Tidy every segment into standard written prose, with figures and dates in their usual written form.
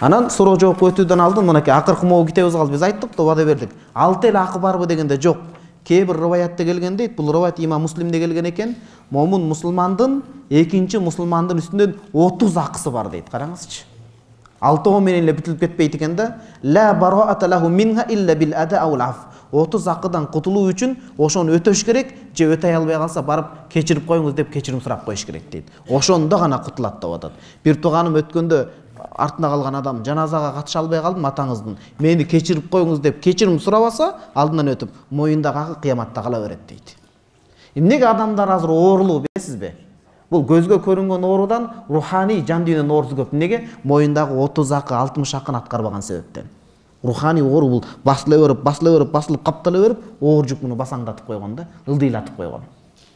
Анан суроо жоопко өтүүдөн алдын мынакей акыркы могу китебибиз калды. Биз айттык да, вада бердик. 6 эле акы барбы дегенде жок. Кээ бир риваятта келген дейт, бул риваят Имам Муслимде келген экен. Момун мусулмандын экинчи мусулмандын үстүнөн 30 акысы бар дейт. Караңызчы. 6 менен эле бүтүлүп кетпейт экен да. Ла бараата лаху минха илля бил ада ау аф. 30 акыдан кутулуу үчүн ошону өтөш керек, же өтөй албай калса барып кечирип коюңуз деп кечирим сурап коюш керек дейт. Ошондо гана кутулат деп атат. Бир тууганым өткөндө артына калган адам жаназага катыша албай калдым атаңыздын. Мени кечирип коюңуз деп кечирим сурабаса, алдынан өтүп, моюндагы акы кыяматта кала берет дейт. Эмнеге адамдар азыр оорулуу билесизби? Бул көзгө көрүнгөн оорудан руханий жан дүйнөнүн оорусу көп. Эмнеге? Моюндагы 30 акы, 60 акын аткарбаган себептен. Руханий оору бул басылып каптала берип, оор жүк муну басаңдатып койгон да, ылдыйлатып койгон.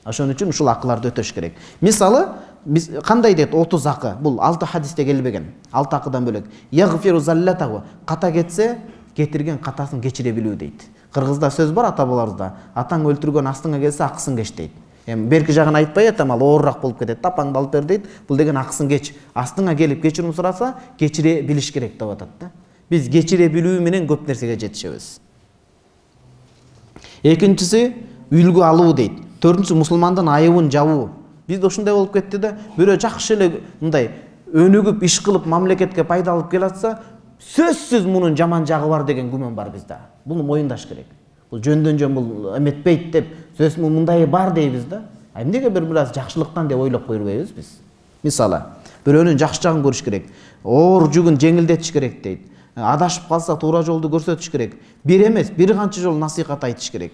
Ошон үчүн ушул акыларды өтөш керек. Мисалы, биз кандай дейт 30 акы? Бул 6 хадисте келбеген. 6 акыдан бөлөк. Ягфиру заллатаху. Ката кетсе, кетирген катасын кечире билүү дейт. Кыргызда сөз бар ата бабаларыбызда. Атаң өлтүргөн астыңа келсе акысын кеч дейт. Эми берки жагын айтпай атам, ал оорурак болуп кетет. Апаңды алып бер дейт. Бул деген акысын кеч. Астыңа келип кечирим сураса, кечире билиш керек деп атат да. Биз кечире билүү менен көп нерсеге жетишебиз. Экинчиси үлгү алуу дейт. Төртүнчүсү мусулмандын айыбын жабуу. Бизде ушундай болуп кетти да, бирөө жакшы эле мындай өнүгүп иш кылып мамлекетке пайда алып келатса, сөзсүз мунун жаман жагы бар деген күмөн бар бизде. Буну моюндаш керек. Бул жөндөн жөн бул эметпейт деп, сөз мындай бар дейбиз да. Эмнеге бир аз жакшылыктан деп ойлоп койбойбуз биз? Мисалы, бирөөнүн жакшы жагын көрүш керек. Оор жүгүн жеңилдетиш керек дейт. Адашып калса туура жолду көрсөтүш керек. Бир эмес, бир канча жол насихат айтыш керек.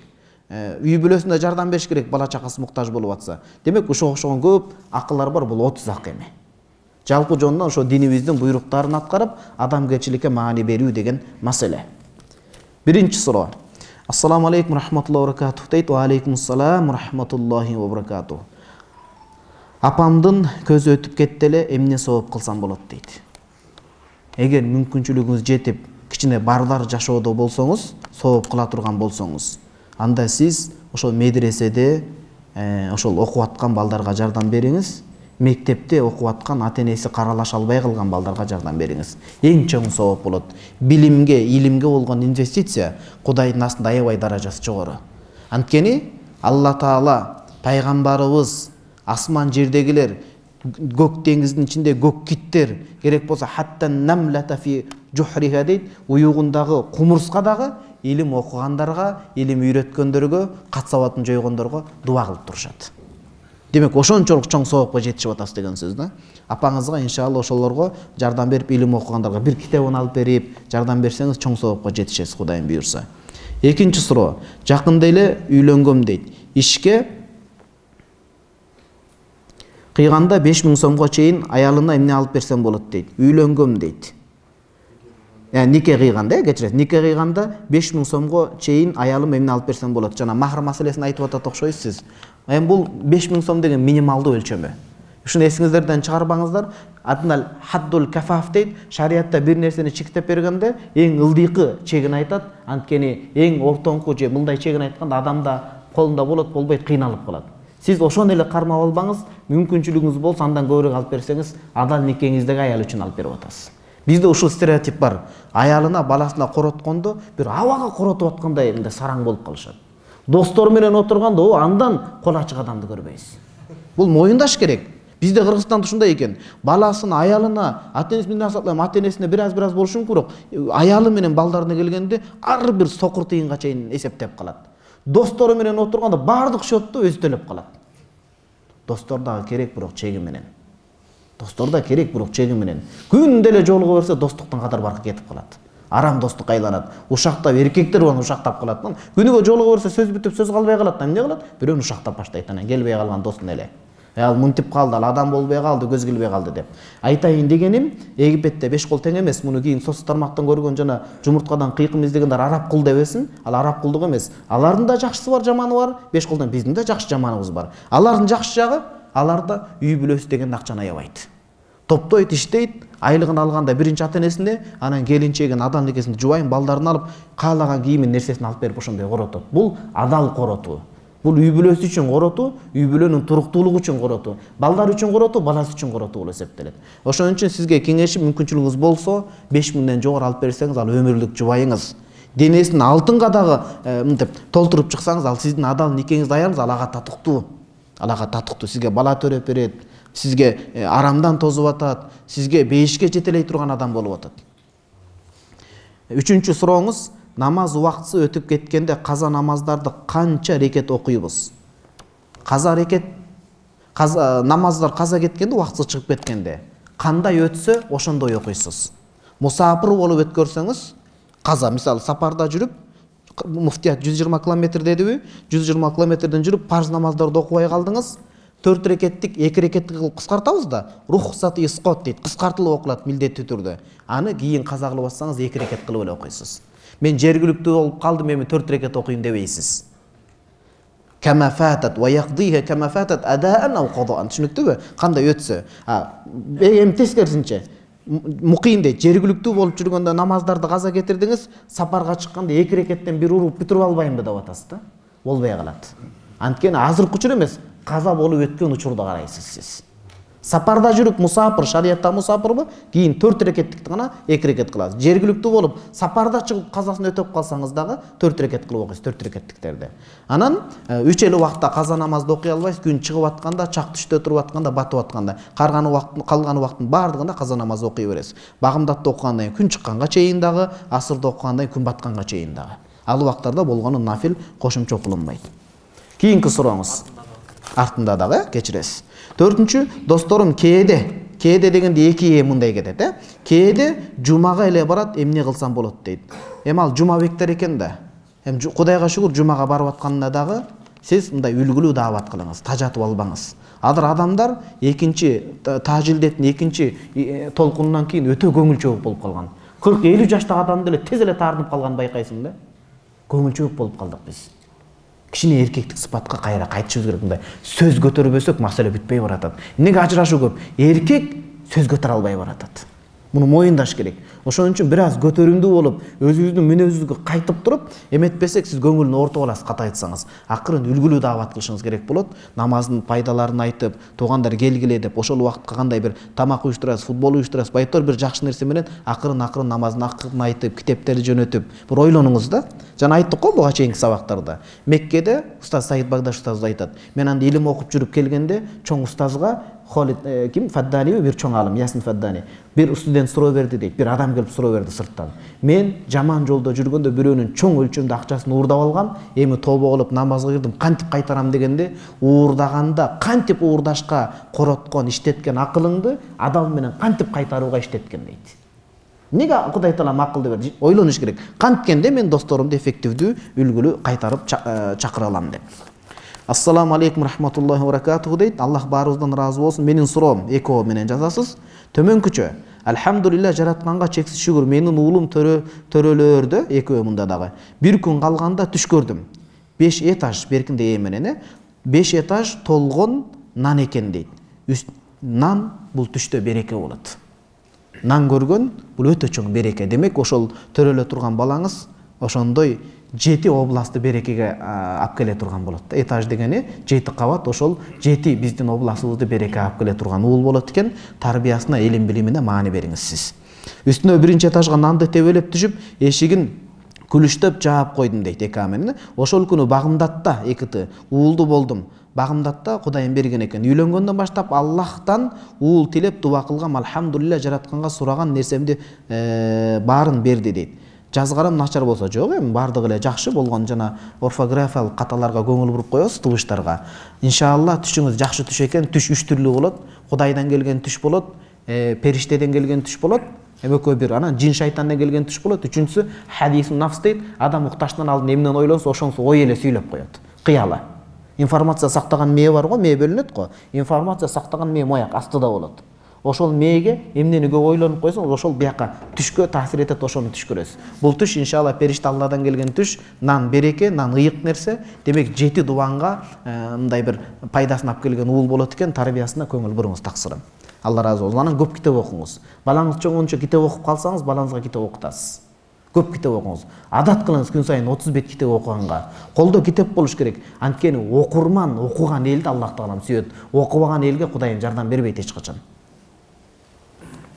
Үй бүлөсүнө жардам бериш керек, бала чакасы муктаж болуп атса. Демек ошого окшогон көп акылар бар, бул 30 акы эме. Жалпы жонунан ошо динибиздин буйруктарын аткарып, адамгерчиликке маани берүү деген маселе. Биринчи суроо. Ассаламу алейкум рахматуллахи ва баракатух дейт. Ва алейкум ассалам рахматуллахи ва баракатух. Апамдын көзү өтүп кетти эле, эмне сооп кылсам болот дейт. Эгер мүмкүнчүлүгүңүз жетип, кичине барлар жашоодо болсоңуз, сооп кыла турган болсоңуз, анда сиз ошол медреседе ошол окуп аткан балдарга жардам бериңиз, мектепте окуп аткан ата-энеси каралаша албай калган балдарга жардам бериңиз. Эң чоң сооп болот. Билимге, илимге болгон инвестиция Кудайдын астында аябай даражасы жогору. Анткени Алла Таала, пайгамбарыбыз, асман жердегилер, көк деңиздин ичинде көк киттер, керек болсо хаттан намлата фи жухриха дейт, уюгундагы кумурска дагы илим окугандарга, илим үйрөткөндөргө, кат сабатын жойгондорго дуа кылып турушат. Демек ошончолук чоң соопко жетишип атасыз деген сөз да. Апаңызга иншалла ошолорго жардам берип, илим окугандарга бир китебин алып берип, жардам берсеңиз чоң соопко жетишесиз, Кудайым буйрса. Экинчи суроо. Жакында эле үйлөнгөм дейт. Ишке кыйганда 5000 сомго чейин аялына эмне алып берсем болот дейт. Үйлөнгөм дейт. Нике кыйганда, кечирет. Нике кыйганда 5000 сомго чейин аялым эмне алып берсем болот. Жана махр маселесин айтып атат окшойсуз. Эми бул 5000 сом деген минималдуу өлчөмү. Ушуну эсиңиздерден чыгарбаңыздар. Аднал хаддул кафаф дейт. Шариатта бир нерсени чектеп бергенде эң ылдыйкы чегин айтат. Анткени эң ортоңку же мындай чегин айтканда адамда колунда болот, болбойт, кыйналып калат. Сиз ошону эле кармап албаңыз, мүмкүнчүлүгүңүз болсо андан көбүрөөк алып берсеңиз, адал никеңиздеги аял үчүн алып берип атасыз. Бизде ушул стереотип бар. Аялына, баласына короткондо бир абага коротуп аткандай мындай сараң болуп калышат. Достор менен отурганда, андан кол ачык адамды көрбөйсүз. Бул моюндаш керек. Бизде Кыргызстанда ушундай экен. Баласына, аялына, ата-энесине бир аз болушу мүмкүн, бирок аялы менен балдарына келгенде ар бир сокур тыйынга чейин эсептеп калат. Достору менен отурганда бардык счетту өзү төлөп калат. Достор дагы керек, бирок чеги менен. Күндө эле жолуга берсе достуктан кадар баркы кетип калат. Арам достук айланат. Ушактап эркектер болон ушактап калат. Күнүгө жолуга берсе сөз бүтүп сөз калбай калат. Эмне кылат? Бирөөнү ушактап баштайт, анан келбей калган досун эле. Ал мынтип калды, ал адам болбой калды, көз келбей калды деп. Айтайын дегеним, Египетте 5 кол тең эмес. Муну кийин соц тармактан көргөн жана жумурткадан кыйкым издегендер араб кул дебесин. Ал араб кулдук эмес. Алардын да жакшысы бар, жаманы бар. 5 колдон биздин да жакшы жаманыбыз бар. Алардын жакшы жагы, аларда үй бүлөсү деген акчаны аябайт. Топтойт, иштейт, айлыгын алганда биринчи ата-энесине, анан келинчегин, адан никесин жубайын, балдарын алып, каалаган кийимин, нерсесин алып берип ошондой коротот. Бул адал коротуу. Бул үй бүлөсү үчүн коротуу, үй бүлөнүн туруктуулугу үчүн коротуу, балдар үчүн коротуу, баласы үчүн коротуу болуп эсептелет. Ошон үчүн сизге кеңешим, мүмкүнчүлүгүңүз болсо 5000ден жогору алып берсеңиз, ал өмүрлүк жубайыңыз. Денесин алтынга дагы мынтип толтуруп чыксаңыз, ал сиздин адал никеңизди аярыңыз, ал ага татыктуу. Ал ага татыктуу, сизге бала төрөп берет, сизге арамдан тозуп атат, сизге бейишке жетелей турган адам болуп атат. Үчүнчү сурооңуз, намаз убактысы өтүп кеткенде каза намаздарды канча рекет окуйбуз? Намаздар каза кеткенде, убактысы чыгып кеткенде кандай өтсө ошондой окуйсуз. Мусафир болуп өткөрсөңүз, каза, мисалы сапарда жүрүп, муфтият 120 км дедиби? 120 кмден жүрүп парз намаздарды окубай калдыңыз. 4 рекеттик 2 рекеттик кылып кыскартабыз да, рухсат исқот дейт, кыскартылып окулат милдеттүү түрдө. Аны кийин каза кылып атсаңыз 2 рекет кылып эле окуйсуз. Мен жергиликтүү болуп калдым, эми 4 рекет окуйм дебейсиз. Кама фатат ва яqdiha кама фатат адаан ау qaдаан. Түшүнүктүбү? Кандай өтсө. Эми тескерисинче муким дейт, жергиликтүү болуп жүргөндө намаздарды каза кетирдиңиз, сапарга чыкканда 2 рекеттен бир уруп бүтүрүп албаймбы деп атасыз да? Болбой калат. Анткени азыркы учур эмес, каза болуп өткөн учурда карайсыз сиз. Сапарда жүрүп мусафир, шариятта мусафирбы? Кийин 4 рекеттикти гана 2 рекет кыласыз. Жергиликтүү болуп сапарда чыгып казасын өтөп калсаңыз дагы 4 рекет кылып окуйсуз, 4 рекеттиктерди. Анан 3 эле убакта каза намазды окуй албайсыз. Күн чыгып атканда, чак түштө туруп атканда, батып атканда. Калган убакыттын баардыгында каза намазды окуй бересиз. Багымдатты окугандан кийин күн чыкканга чейин дагы, асырда окугандан кийин күн батканга чейин дагы. Ал убактарда болгону нафил кошумча окулунбайт. Кийинки сурооңуз. Артында дагы кечиресиз. 4-чү, досторум, кээде дегенде 2 мындай кетет, Кээде жумага эле барат, эмне кылсам болот дейт. Эми ал жума бектер экен да. Эми Кудайга шүгүр, жумага барып атканда дагы сиз мындай үлгүлүү даават кылыңыз, тажатып албаңыз. Азыр адамдар тажилдеттин экинчи толкунунан кийин өтө көңүлчү болуп калган. 40-50 жаштагы адамды эле тез эле таарынып калган байкайсың да. Көңүлчү болуп калдык биз. Кичине эркектик сыпатка кайра кайтышыбыз керек. Мындай сөз көтөрбөсөк маселе бүтпөй баратат. Эмнеге ажырашуу көп? Эркек сөз көтөрө албай баратат. Муну моюндаш керек. Ошон үчүн бир аз көтөрүмдүү болуп, өзүбүздүн мүнөзүбүзгө кайтып туруп, эметпесек сиз көңүлүн ортоп аласыз, ката айтсаңыз. Акырын үлгүлүү даават кылышыңыз керек болот. Намаздын пайдаларын айтып, туугандар келгиле деп, ошол убакытка кандай бир тамак уюштурасыз, футбол уюштурасыз, байтор бир жакшы нерсе менен акырын намаздын акырын айтып, китептерди жөнөтүп, бир ойлонуңуз да. Жана айттык го буга чейинки сабактарда. Меккеде устаз Саид Багдаш устаз айтат. Мен анда илим окуп жүрүп келгенде, чоң устазга Фаддани бир чоң алым, Ясин Фаддани. Bir студент суроо берди дейт. Bir адам келип суроо берди сырттан. Мен жаман жолдо жүргөндө бирөөнүн чоң өлчөмдө акчасын уурдап алгам. Эми тобо кылып намазга кирдим. Кантип кайтарам дегенде, уурдаганда кантип уурдашка короткон, иштеткен акылыңды адал менен кантип кайтарууга иштеткен дейт. Неге Кудай Таалам акылды берди? Ойлонуш керек. Канткенде мен досторумду эффективдүү, үлгүлүү кайтарып чакыра алам деп. Ассаламу алейкум рахматуллахи ва баракатуху дейт. Аллах баарыбыздан разы болсун. Менин суроом эко менен жазасыз. Төмөнкүчө. Алхамдулилlah жаратканга чексиз шүгүр. Менин уулум төрөлөрдө экөө мында дагы. Бир күн калганда түш көрдүм. 5 этаж беркинде менен 5 этаж толгон нан экен дейт. Нан бул түштө береке болот. Нан көргөн бул өтө чоң береке. Демек ошол төрөлө турган балаңыз ошондой 7 областты берекеге алып келе турган болот. Этаж дегени 7 кабат, ошол 7 биздин областыбызды береке алып келе турган уул болот экен. Тарбиясына, илим билимине маани бериңиз сиз. Үстүнө биринчи этажга нанды тебелеп түшүп, эшигин күлүштөп жаап койдум дейт экаменин. Ошол күнү Багымдатта экити уулду болдум. Багымдатта Кудайым берген экен. Үйлөнгөндөн баштап Аллахтан уул тилеп дуа кылгам. Алхамдулилlah жаратканга сураган нерсемди баарын берди дейт. Жазгарым начар болсо жок, эми бардыгы эле жакшы болгон, жана орфографиялык каталарга көңүл буруп коебуз, тубуштарга. Иншалла түшүңүз жакшы түш экен. Түш 3 түрлүү болот. Кудайдан келген түш болот, периштеден келген түш болот. Экөө бир анан жин шайтандан келген түш болот. Үчүнчүсү хадисун нафс дейт. Адам укташтан алдын эмнен ойлонсо, ошонусу ой эле сүйлөп коет. Кыяла. Информация сактаган мээ бар го, мээ бөлүнөт го. Информация сактаган мээ мояк астыда болот. Ошол мээге эмнени көп ойлонуп койсоң, ошол бияка түшкө таасир этет, ошону түш көрөсүз. Бул түш иншалла периште Алладан келген түш, нан береке, нан ыйык нерсе. Демек 7 дубанга мындай бир пайдасын алып келген уул болот экен. Тарбиясына көңүл буруңуз, таксырым. Алла разы болсун. Анан көп китеп окуңуз. Балаңыз чоңгончо китеп окуп калсаңыз, балаңызга китеп окутасыз. Көп китеп окуңуз. Адат кылыңыз күн сайын 30 бет китеп окуганга. Колдо китеп болуш керек. Анткени окурман окуган элди Аллах таалам сүйөт. Окубаган элге Кудайым жардам бербейт эч качан.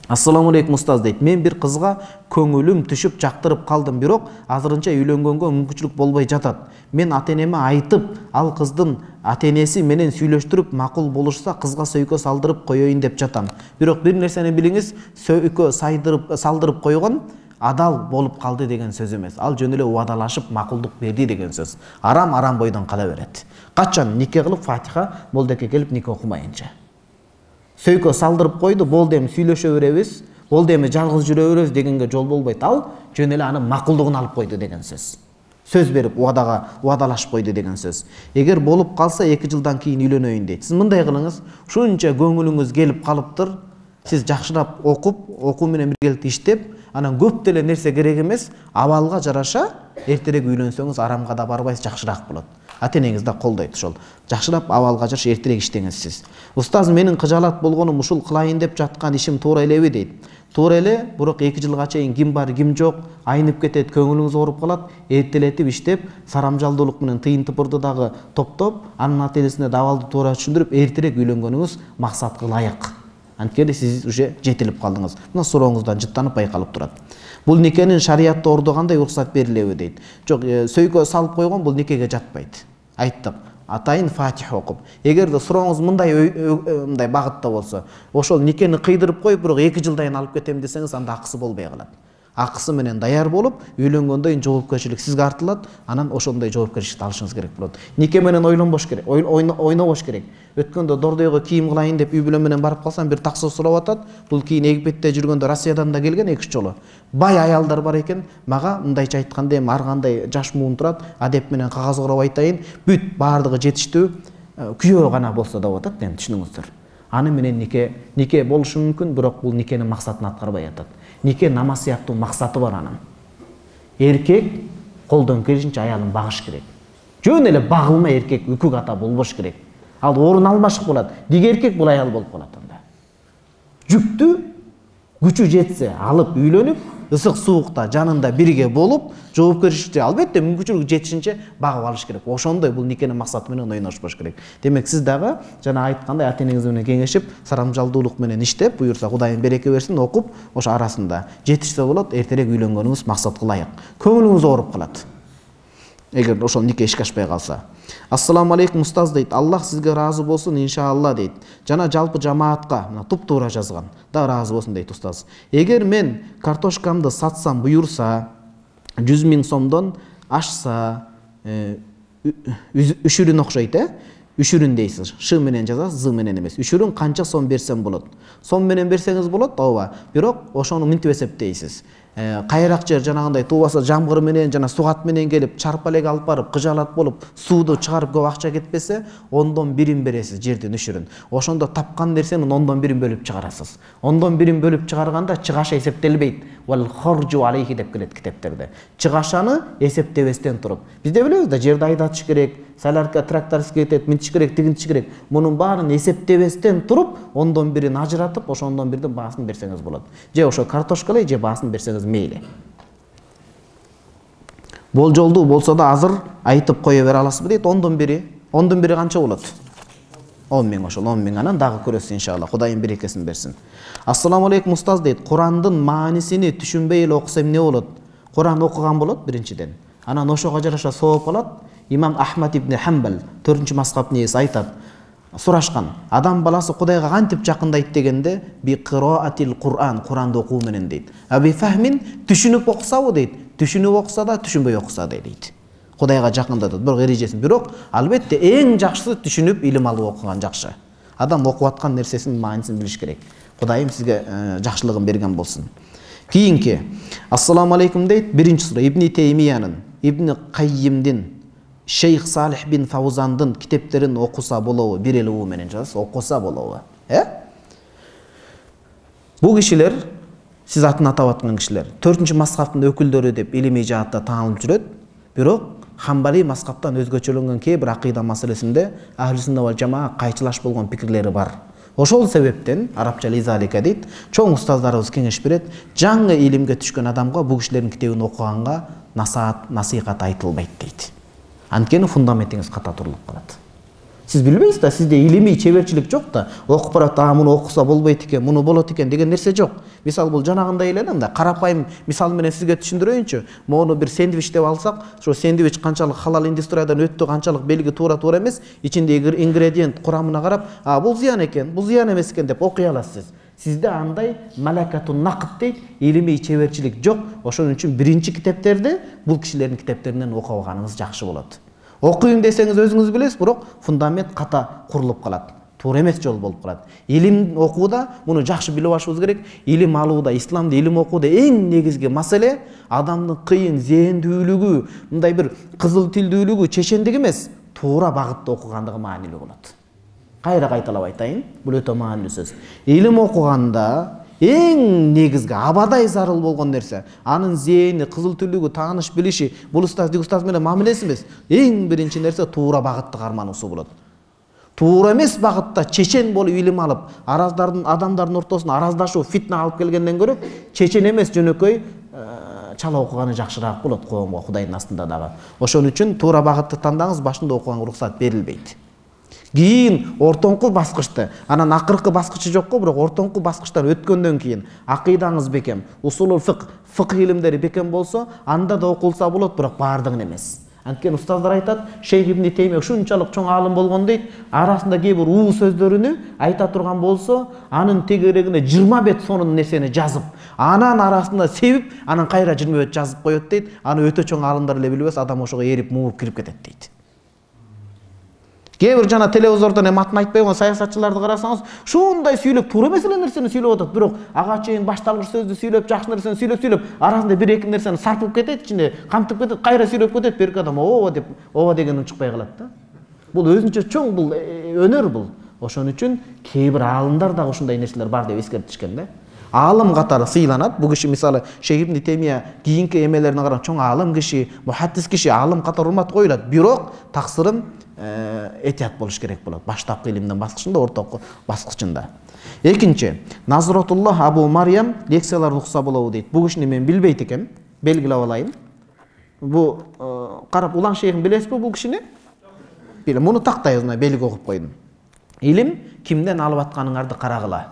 Ассаламу алейкум устаз дейт. Мен бир кызга көңүлүм түшүп жактырып калдым, бирок азырынча үйлөнгөнгө мүмкүнчүлүк болбой жатат. Мен ата-энеме айтып, ал кыздын ата-энеси менен сүйлөштүрүп макул болушса кызга сөйкө салдырып коеюн деп жатам. Бирок бир нерсени билиңиз, сөйкө салдырып койгон адал болуп калды деген сөз эмес. Ал жөн эле убадалашып макулдук берди деген сөз. Арам бойдон кала берет. Качан нике кылып Фатиха молдекке келип нике окумайынча. Сөйкө салдырып койду, болду эми сүйлөшө беребиз, болду эми жалгыз жүрө беребиз дегенге жол болбойт. Ал жөн эле анын макулдугун алып койду деген сөз. Сөз берип убадалашып койду деген сөз. Эгер болуп калса 2 жылдан кийин үйлөнөйүн дейт. Сиз мындай кылыңыз, ушунча көңүлүңүз келип калыптыр, сиз жакшырап окуп, окуу менен биргеликте иштеп, анан көп деле нерсе керек эмес, абалга жараша эртерээк үйлөнсөңүз арамга да барбайсыз, жакшыраак болот. Ата-энеңиз да колдойт ошол. Жакшырап абалга жараша эртерээк иштеңиз сиз. Устаз, менин кыжаалат болгонум ушул кылайын деп жаткан ишим туура элеби дейт. Туура эле, бирок 2 жылга чейин ким бар, ким жок, айнып кетет, көңүлүңүз ооруп калат, эртелетип иштеп, сарамжалдуулук менен тыйын тыпырды дагы топтоп, анын ата-энесине да абалды туура түшүндүрүп, эртерээк үйлөнгөнүңүз максатка ылайык. Анткени сиз уже жетилип калдыңыз. Мына сурооңуздан жыттанып байкалып турат. Бул никенин шариятта ордогандай уруксат берилеби дейт. Жок, сөйкө салып койгон бул никеге жатпайт. Айттык. Атайын Фатиха окуп. Эгерде сурооңуз мындай багытта болсо, ошол никени кыйдырып коюп, бирок 2 жылдан алып кетем десеңиз, анда акысы болбой калат. Акысы менен даяр болуп, үйлөнгөндөн жоопкерчилик сизге артылат, анан ошондой жоопкерчиликти алышыңыз керек болот. Нике менен ойлонбош керек, ойнобош керек. Өткөндө Дордойго кийим кылайын деп үй бүлө менен барып калсам, бир таксы сурап атат. Бул кийин Египетте жүргөндө Россиядан да келген 2-3 жолу. Бай аялдар бар экен, мага мындайча айтканда эми ар кандай жаш муун турат, адеп менен кагаз короп айтайын, бүт баардыгы жетиштүү, күйөө гана болсо да болот, эми түшүнүңүздөр. Аны менен нике болушу мүмкүн, бирок бул никенин максатын аткарбай атат. Нике намаз сыяктуу максаты бар анын. Эркек колдон келишинче аялын багыш керек. Жөн эле багылма эркек үкүк ата болбош керек. Ал орун алмашык болот. Диги эркек бул аял болуп калат анда. Жүктү күчү жетсе алып үйлөнүп, ысык суукта жанында бирге болуп, жоопкерчиликти албетте мүмкүнчүлүк жетишинче багып алыш керек. Ошондой бул никенин максаты менен ойношпош керек. Демек сиз дагы жана айткандай ата-энеңиз менен кеңешип, сарамжалдуулук менен иштеп, буюрса Кудайым береке берсин, окуп, ошо арасында жетишсе болот, эртерээк үйлөнгөнүңүз максатка ылайык. Көңүлүңүз ооруп калат. Эгер ошол нике ишке ашпай калса. Ассаламу алейкум устаз дейт. Аллах сизге разы болсун иншалла дейт. Жана жалпы жамаатка мына туп-туура жазган. Да разы болсун дейт устаз. Эгер мен картошкамды сатсам буюрса 100 000 сомдон ашса, үшүрүн окшойт, үшүрүн дейсиз. Ш менен жазасыз, з менен эмес. Үшүрүн канча сом берсем болот? Сом менен берсеңиз болот, ооба. Бирок ошону мынтип эсептейсиз. Кайрак жер жанагындай туубаса жамгыр менен жана сугат менен келип чарп элек алып барып кыжаалат болуп сууду чыгарып көп акча кетпесе, 1/10 бересиз жердин үшүрүн. Ошондо тапкан нерсенин 1/10 бөлүп чыгарасыз. 1/10 бөлүп чыгарганда чыгаша эсептелбейт. Вал хоржу алейхи деп келет китептерде. Чыгашаны эсептебестен туруп. Бизде билебиз да, жерди айдатыш керек, саларка тракторский кетет, минтиш керек, тигинтиш керек. Мунун баарын эсептебестен туруп, 1/10 ажыратып, ошо 1/10 баасын берсеңиз болот. Же ошо картошка эле, же баасын берсеңиз мейли. Болжолдуу болсо да азыр айтып кое бере аласызбы дейт. 1/10 канча болот? 10 000 ошол 10 000 анан дагы көрөсүз иншалла. Кудайым берекесин берсин. Ассаламу алейкум устаз дейт. Курандын маанисини түшүнбөй эле окусам эмне болот? Куран окуган болот биринчиден. Анан ошого жараша сооп алат. Имам Ахмад ибн Хамбал 4-мазхабтын ээси айтат. Сурашкан. Адам баласы Кудайга кантип жакындайт дегенде, би кыраатил Кур'ан, Куранды окуу менен дейт. Аби фахмин түшүнүп окусабы дейт. Түшүнүп окуса да, түшүнбөй окуса да дейт. Кудайга жакындатат. Бирок эрежесин. Бирок албетте эң жакшысы түшүнүп илим алып окуган жакшы. Адам окуп аткан нерсесинин маанисин билиш керек. Кудайым сизге жакшылыгын берген болсун. Кийинки. Ассаламу алейкум дейт. Биринчи суроо Ибн Теймиянын, Ибн Каййимдин, Шейх Салих бин Фаузандын китептерин окуса болобу? Бир эле уу менен жазасыз, окуса болобу? Бул кишилер, сиз атын атап аткан кишилер, 4-мазхабтын өкүлдөрү деп илимий жаатта таанылып жүрөт. Бирок Хамбали мазхабтан өзгөчөлөнгөн кээ бир акыйда маселесинде Ахли сунна вал жамаа кайчылаш болгон пикирлери бар. Ошол себептен арабча лизалика дейт, чоң устаздарыбыз кеңеш берет, жаңы илимге түшкөн адамга бул кишилердин китебин окуганга насихат айтылбайт дейт. Анткени фундаментиңиз ката турулуп калат. Сиз билбейсиз да, сизде илимий чеберчилик жок да, окуп барат, муну окуса болбойт экен, муну болот экен деген нерсе жок. Мисалы бул жанагындай эле да, карапайым мисал менен сизге түшүндүрөйүнчү. Мону бир сэндвич деп алсак, ошо сэндвич канчалык халал индустриядан өттү, канчалык белги туура эмес, ичиндеги ингредиент курамына карап, бул зыян экен, бул зыян эмес экен деп окуй аласыз. Сизде андай малакатун нақд дейт, илимий чеберчилик жок. Ошон үчүн биринчи китептерди бул кишилердин китептеринен окуп алганыңыз жакшы болот. Окуйм десеңиз өзүңүз билесиз, бирок фундамент ката курулуп калат. Туура эмес жол болуп калат. Илим окууда муну жакшы билип алышыбыз керек. Илим алууда, исламда илим окууда эң негизги маселе адамдын кыйын зээндүүлүгү, мындай бир кызыл тилдүүлүгү, чечендиги эмес, туура багытта окугандыгы маанилүү болот. Кайра кайталап айтайын, бул өтө маанилүү сөз. Илим окуганда эң негизги абадай зарыл болгон нерсе, анын зээни, кызыл түлүгү, тааныш билиши, бул устаз менен мамилеси эмес. Эң биринчи нерсе туура багытты кармануусу болот. Туура эмес багытта чечен болуп илим алып, адамдардын ортосуна араздашуу, фитна алып келгенден көрө, чечен эмес жөнөкөй чала окуганы жакшыраак болот коомго, Кудайдын астында дагы. Ошон үчүн туура багытты тандаңыз, башында окуганга уруксат берилбейт. Кийин ортоңку баскычты, анан акыркы баскычы жокко, бирок ортоңку баскычтан өткөндөн кийин акыйдаңыз бекем, усулул фикх илимдери бекем болсо, анда да окулса болот, бирок баардыгын эмес. Анткени устаздар айтат, Шейх ибн Теймия ушунчалык чоң аалым болгон дейт, арасында кээ бир уу сөздөрүнү айта турган болсо, анын тегерегине 20 бет сонун нерсени жазып, анан арасында себип, анан кайра 20 бет жазып коет дейт. Аны өтө чоң аалымдар эле билбес, адам ошого эрип мууп кирип кетет дейт. Кээ бир жана телевизордон атын айтпай койгон саясатчыларды карасаңыз, ушундай сүйлөп, туура эмес эле нерсени сүйлөп атат, бирок ага чейин башталгыч сөздү сүйлөп, жакшы нерсени сүйлөп, арасында бир эки нерсени сарпып кетет, ичинде камтып кетет, кайра сүйлөп кетет, берки адам ооба дегенин чыкпай калат да. Бул өзүнчө чоң бул өнөр бул. Ошон үчүн кээ бир аалымдар дагы ушундай нерселер бар деп эскертишкен да. Аалым катары сыйланат. Бул киши мисалы Шейх ибн Теймия кийинки эмелерине карап чоң аалым киши, мухаддис киши, аалым катары урмат коюлат. Бирок таксырын этият болуш керек болот. Баштапкы илимдин баскычында, ортокку баскычында. Экинчи, Назратуллах Абу Марьям лекцияларды укса болобу дейт. Бул кишини мен билбейт экенмин, белгилеп алайын. Бу карап улан шейхин билесизби бул кишини? Билем, муну тактайбыз, мына белги окуп койдум. Илим кимден алып атканыңарды карагыла.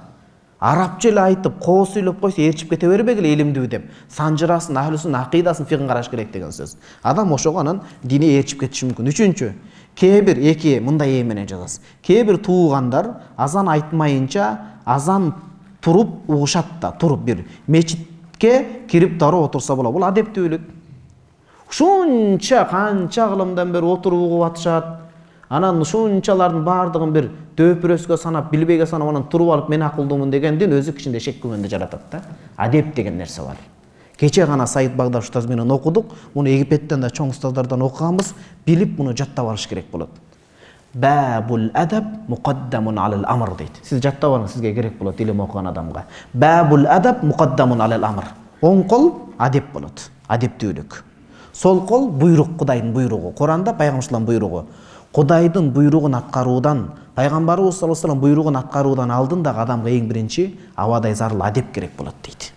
Арабча эле айтып, коо сүйлөп койсо ээрчип кете бербегиле илимдүү деп. Санжырасын, ахлусун, акыйдасын, фикын караш керек деген сөз. Адам ошого анан дини ээрчип кетиши мүмкүн. Үчүнчү, кээ бир мындай менен жазасыз. Кээ бир туугандар азан айтмайынча азан туруп угушат да, туруп бир мечитке кирип дароо отурса болот. Бул адептүүлүк. Ушунча канча кылымдан бери отуруп угуп атышат. Анан ушунчалардын баардыгын бир дөпүрөскө санап, билбейге санап, анан туруп алып мен акылдуумун дегендин өзү кичинде шек күмөндү жаратат да. Адеп деген нерсе бар. Кече гана Саид Багдаш устаз менен окудук. Муну Египеттен да чоң устаздардан окуганбыз. Билип муну жаттап алыш керек болот. Бабул адаб муқаддамун алал амр дейт. Сиз жаттап алыңыз, сизге керек болот илим окуган адамга. Бабул адаб муқаддамун алал амр. Оң кол адеп болот, адептүүлүк. Сол кол буйрук, Кудайдын буйругу. Куранда пайгамбарыбыздын буйругу. Кудайдын буйругун аткаруудан, пайгамбарыбыз саллаллаху алейхи вассалам буйругун аткаруудан алдын да адамга эң биринчи абадай зарыл адеп керек болот дейт.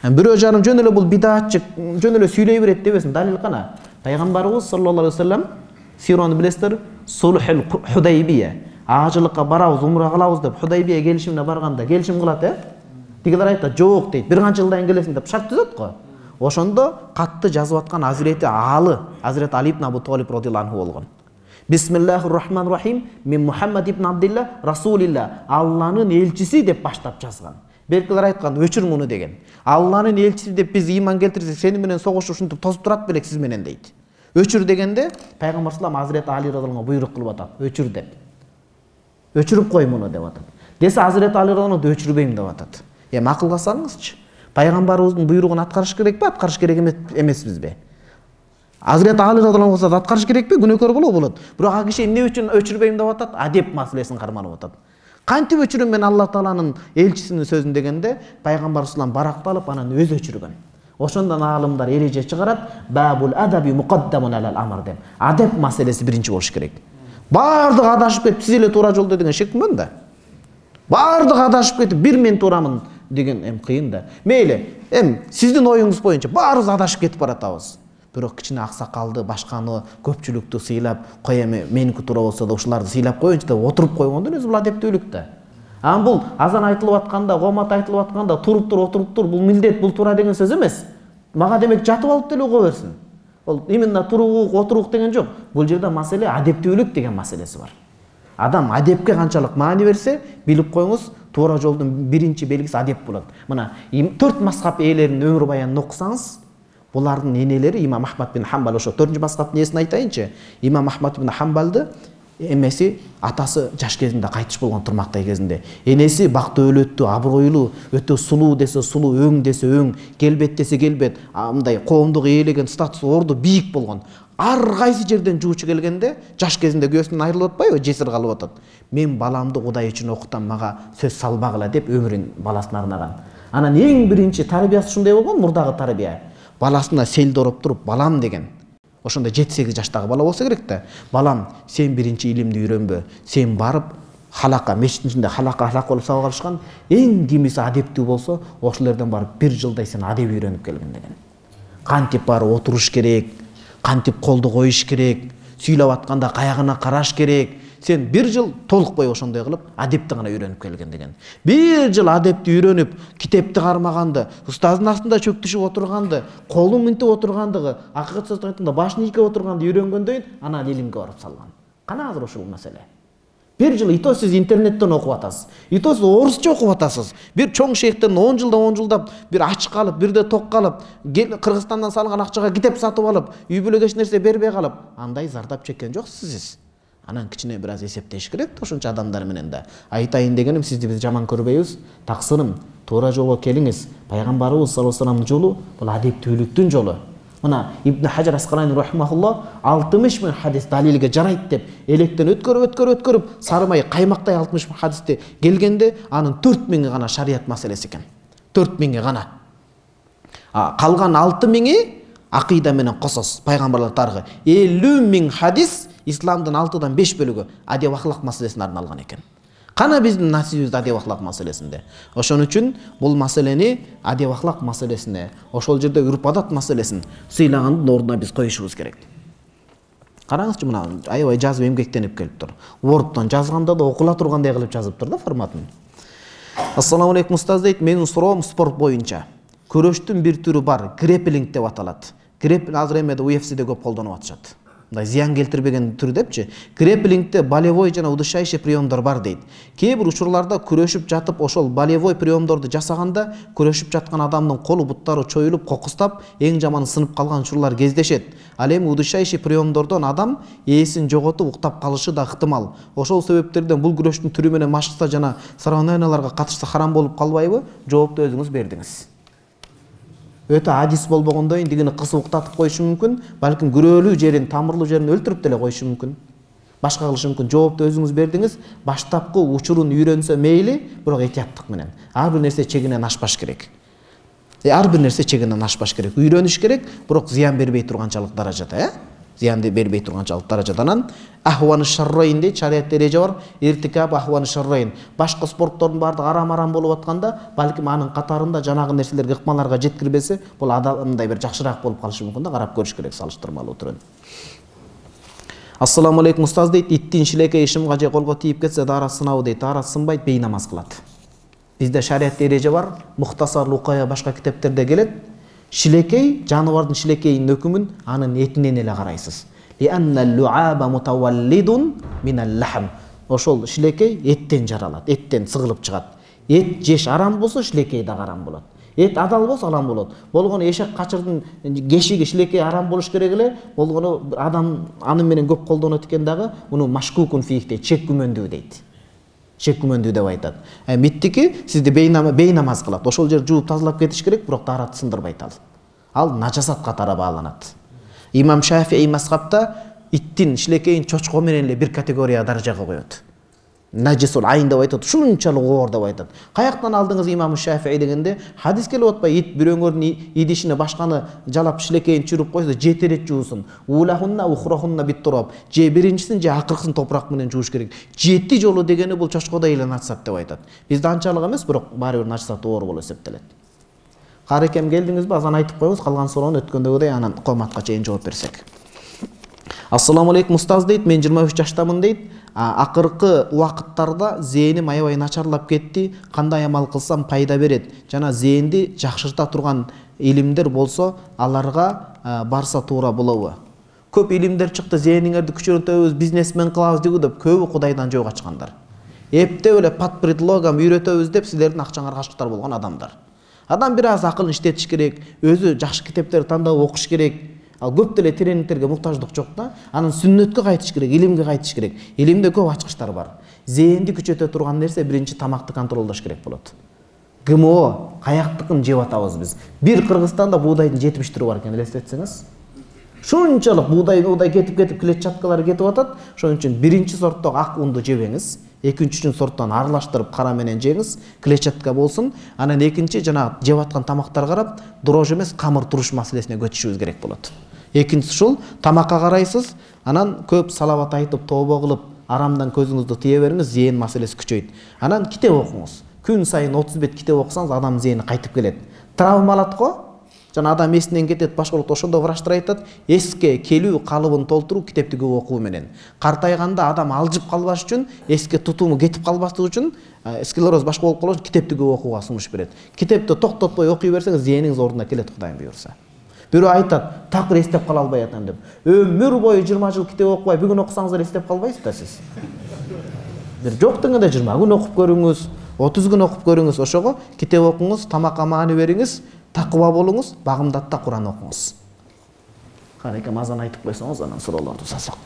Бирөө жарым жөн эле бул бидатчы, жөн эле сүйлөй берет дебесин, далил кана. Пайгамбарыбыз саллаллаху алейхи вассалам сирону билесиздер, Сулхул Худайбия. Ажылыкка барабыз, умра кылабыз деп Худайбия келишимине барганда келишим кылат, Тигилер айтат, жок дейт. Бир канча жылдан келесиң деп шарт түзөт го. Ошондо катты жазып аткан Азирети Алы, Азирет Али ибн Абу Талиб радhiyallahu anhu болгон. Бисмиллахир-рахманир-рахим, мен Мухаммад ибн Абдилла, Расулилла, Алланын элчиси деп баштап жазган. Беркилер айткан, өчүр муну деген. Алланын элчиси деп биз иман келтирсек, сени менен согушуп ушинтип тосуп турат белек сиз менен дейт. Өчүр дегенде пайгамбар салам Азирет Али радhiyallahu anhu буйрук кылып атат, өчүр деп. Өчүрүп кой муну деп атат. Десе Азирет Али радhiyallahu anhu өчүрбөйм деп атат. Акылга салыңызчы. Пайгамбарыбыздын буйругун аткарыш керекпи, аткарыш керек эмеспизби? Азирет Али радhiyallahu anhu аткарыш керекпи, күнөөкөр болот. Бирок ал киши эмне үчүн өчүрбөйм деп атат? Адеп маселесин карманып атат. Кантип өчүрөм мен Алла Тааланын элчисинин сөзүн дегенде, пайгамбар салам баракталып анан өзү өчүргөн. Ошондон аалымдар эреже чыгарат, бабул адаби муқаддамун алал амр деп. Адеп маселеси биринчи болуш керек. Бардыгы адашып кетип, сиз эле туура жолдо деген шек күмөн да. Бардыгы адашып кетип, бир мен туурамын деген кыйын да. Мейли, сиздин оюңуз боюнча баарыбыз адашып кетип баратабыз. Бирок кичине аксакалды, башканы, көпчүлүктү сыйлап, кой меники туура болсо да ушуларды сыйлап коеюнчу деп отуруп койгондун өзү бул адептүүлүк да. Бул азан айтылып атканда, комат айтылып атканда туруп тур, отуруп тур, бул милдет, бул туура деген сөз эмес. Мага демек жатып алып деле уга берсин. Ол именно турук, отурук деген жок. Бул жерде маселе адептүүлүк деген маселеси бар. Адам адепке канчалык маани берсе, билип коюңуз, туура жолдун биринчи белгиси адеп болот. Мына 4 мазхаб ээлеринин өмүр баянын окусаңыз, булардын энелери Имам Ахмад бин Хамбал, ошо 4-нчү мазхабтын ээсин айтайынчы. Имам Ахмад бин Хамбалды эмеси атасы жаш кезинде кайтыш болгон, турмактай кезинде. Энеси бактуу өлөттүү, абройлуу, өтө сулуу десе сулуу, өң десе өң, келбет десе келбет, мындай коомдук ээлеген статус орду бийик болгон. Ар кайсы жерден жуучу келгенде, жаш кезинде күйөөсүнөн айрылып атпайбы, жесир калып атат. Мен баламды Кудай үчүн окутам, мага сөз салбагыла деп өмүрүн баласына арнаган. Анан эң биринчи тарбиясы ушундай болгон, мурдагы тарбия. Баласына селди ороп туруп, балам деген. Ошондо 7-8 жаштагы бала болсо керек да. Балам, сен биринчи илимди үйрөнбө. Сен барып халака, мешиттин ичинде халака болуп сабак алышкан, эң кимиси адептүү болсо, ошолордон барып 1 жылдай сен адеп үйрөнүп келгин деген. Кантип барып отуруш керек, кантип колду коюш керек, сүйлөп атканда каягына караш керек. Сен 1 жыл толук бой ошондой кылып адепти гана үйрөнүп келген деген. 1 жыл адепти үйрөнүп, китепти кармаганды, устаздын астында чөктүшүп отурганды, колун мынтип отургандыгы, акыйкат сөз айтканда башын ийке отурганды үйрөнгөндөн анан илимге барып салган. Кана азыр ушул маселе. 1 жыл ито сиз интернеттен окуп атасыз. Ито сиз орусча окуп атасыз. Бир чоң шейхтен 10 жылдап, бир ач калып, бирде ток калып, Кыргызстандан салган акчага китеп сатып алып, үй бүлөгө эч нерсе бербей калып, андай зардап чеккен жоксуз сиз. Анан кичине бир аз эсептеш керек да ошончо адамдар менен да. Айтайын дегеним, сизди биз жаман көрбөйбүз. Таксырым, туура жолго келиңиз. Пайгамбарыбыз саллаллаху алейхи вассаламдын жолу бул адептүүлүктүн жолу. Мына Ибн Хаджар Аскалани рахимахуллах 60 миң хадис далилге жарайт деп электен өткөрүп сарымай каймактай 60 миң хадисти келгенде анын 4 миңи гана шарият маселеси экен. 4 миңи гана. Калган 6 миңи акыйда менен косос, пайгамбарлар тарыгы. 50 миң хадис исламдын 6-дан 5 бөлүгү адеп ахлак маселесине арналган экен. Кана биздин насибибиз адеп ахлак маселесинде. Ошон үчүн бул маселени адеп ахлак маселесине, ошол жерде үрп адат маселесин сыйлагандын ордуна биз коюшубуз керек. Караңызчы, мына аябай жазып эмгектенип келиптир. Word'тон жазганда да окула тургандай кылып жазыптыр да форматын. Ассаламу алейкум устаз дейт, менин суроом спорт боюнча. Күрөштүн бир түрү бар, грэпплинг деп аталат. Грэпплинг азыр эмеде UFC'де көп колдонуп атышат. Мындай зыян келтирбеген түр депчи. Грэпплингте болевой жана удушающий приемдор бар дейт. Кээ бир учурларда күрөшүп жатып ошол болевой приемдорду жасаганда күрөшүп жаткан адамдын колу буттары чоюлуп, кокустап, эң жаманы сынып калган учурлар кездешет. Ал эми удушающий приемдордон адам ээсин жоготуп уктап калышы да ыктымал. Ошол себептерден бул күрөштүн түрү менен машыкса жана соревнованияларга катышса харам болуп калбайбы? Жоопту өзүңүз бердиңиз. Өтө адис болбогондо индигини кысып уктатып коюшу мүмкүн, балким күрөөлүү жерин, тамырлуу жерин өлтүрүп деле коюшу мүмкүн. Башка кылышы мүмкүн. Жоопту өзүңүз бердиңиз. Баштапкы учурун үйрөнсө мейли, бирок этияттык менен. Ар бир нерсе чегинен ашпаш керек. Ар бир нерсе чегинен ашпаш керек. Үйрөнүш керек, бирок зыян бербей турганчалык даражада, зыянды бербей турганчалык даражадан ахваны шаррайын дейт, шариятта эреже бар, иртикаб ахваны шаррайын. Башка спорттордун баардыгы арам болуп атканда, балким анын катарында жанагы нерселерге, ыкмаларга жеткирбесе, бул адамдай бир жакшыраак болуп калышы мүмкүн да, карап көрүш керек салыштырмалуу түрүн. Ассаламу алейкум устаз дейт, иттин шилекей ишимга же колго тийип кетсе дара сынабы дейт, дара сынбайт, бейнамаз кылат. Бизде шариятта эреже бар, Мухтасар Лукая башка китептерде келет. Шилекей, жаныбардын шилекейинин өкүмүн анын этинен эле карайсыз. Ошол шилекей эттен жаралат, эттен сыгылып чыгат. Эт жеш арам болсо шилекей да арам болот. Эт адал болсо арам болот. Болгону эшек качырдын кешиги шилекей арам болуш керек эле. Болгону адам аны менен көп колдонот экен дагы, муну машкукун фих дейт, шек күмөндүү дейт. Шек күмөндүү деп айтат. Миттики сизди бейнамаз кылат. Ошол жер жууп тазалап кетиш керек, бирок дарат сындырбайт ал. Ал нажасат катары бааланат. Имам Шафии мазхабта иттин шилекейин чочко менен эле бир категория даражага коет. Najisул ayn деп айтат, ушунчалык оор деп айтат. Каяктан алдыңыз имам Шафии дегенде хадис келип атпайбы? Ит бирөөңөрдүн идишине башканы жалап шилекейин чүрүп койсо, жети ирет жуусун. Улахунна ухрахунна биттураб. Же биринчисин же акыркысын топурак менен жууш керек. 7 жолу дегени бул чочкодой эле начисат деп айтат. Бизде анчалык эмес, бирок баары бир начисат оор болуп эсептелет. Карекем келдиңизби? Азан айтып коебуз, калган суроону өткөндөгүдөй анан коматка чейин жооп берсек. Ассаламу алейкум устаз дейт, мен 23 жаштамын дейт. Акыркы убакыттарда зээним аябай начарлап кетти. Кандай амал кылсам пайда берет? Жана зээнди жакшырта турган илимдер болсо, аларга барса туура болобу? Көп илимдер чыкты, зээниңерди күчөтөбүз, бизнесмен кылабыз деп көбү Кудайдан жөө качкандар. Эптеп эле под предлогом үйрөтөбүз деп силердин акчаңарга кашыктар болгон адамдар. Адам бир аз акылын иштетиш керек, өзү жакшы китептерди тандап окуш керек. Ал көп деле тренингтерге муктаждык жок да. Анан сүннөткө кайтыш керек, илимге кайтыш керек. Илимде көп ачкычтар бар. Зээнди күчөтө турган нерсе биринчи тамакты контролдош керек болот. ГМО каяктыкын жеп атабыз биз. Бир Кыргызстанда буудайдын 70 түрү бар экен, элестетсеңиз. Шунчалык буудай кетип клетчаткалары кетип атат. Ошон үчүн биринчи сорттогу ак унду жебеңиз. Экинчи сорттон аралаштырып кара менен жеңиз, клетчатка болсун. Анан экинчи жана жеп аткан тамактар карап, дрожж эмес, камыр туруш маселесине көчүшүбүз керек болот. Экинчиси ушул, тамакка карайсыз, анан көп салават айтып, тообо кылып, арамдан көзүңүздү тие бериңиз, зээн маселеси күчөйт. Анан китеп окуңуз. Күн сайын 30 бет китеп окусаңыз, адам зээни кайтып келет. Травма алат го? Жана адам эсинен кетет, башкалык ошондо врачтар айтат, эске келүү калыбын толтуруу китепти көп окуу менен. Картайганда адам алжып калбаш үчүн, эске тутуму кетип калбаслык үчүн, склероз башка болуп калыш китепти көп окууга сунуш берет. Китепти токтотпой окуй берсеңиз, зээниңиз ордуна келет, Кудайым буйрса. Бирөө айтат, такыр эстеп кала албай атам деп. Өмүр бою 20 жыл китеп окубай, бүгүн окусаңыздар эстеп калбайсыз да сиз. Бир жок дегенде 20 күн окуп көрүңүз, 30 күн окуп көрүңүз, ошого китеп окуңуз, тамакка маани бериңиз, такыба болуңуз, багымдатта Куран окуңуз. Карекем азан айтып койсоңуз, анан суроолорду сасак.